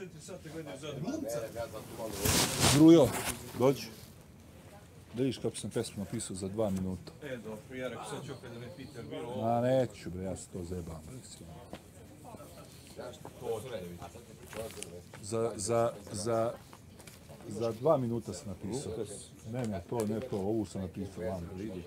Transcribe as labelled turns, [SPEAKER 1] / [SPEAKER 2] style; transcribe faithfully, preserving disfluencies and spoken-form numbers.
[SPEAKER 1] četiri sata gledaju za glumca.
[SPEAKER 2] Grujo, dođi. Da vidiš kako sam pesmu napisao za dva minuta.
[SPEAKER 1] E, dobro, ja rekao sad ću opet da me pita, bilo ovo.
[SPEAKER 2] A neću bre, ja se to zebam.
[SPEAKER 1] To treba vidjeti.
[SPEAKER 2] Za, za, za, za dva minuta sam napisao. Ne, ne, to, ne to, ovu sam napisao vam da vidi.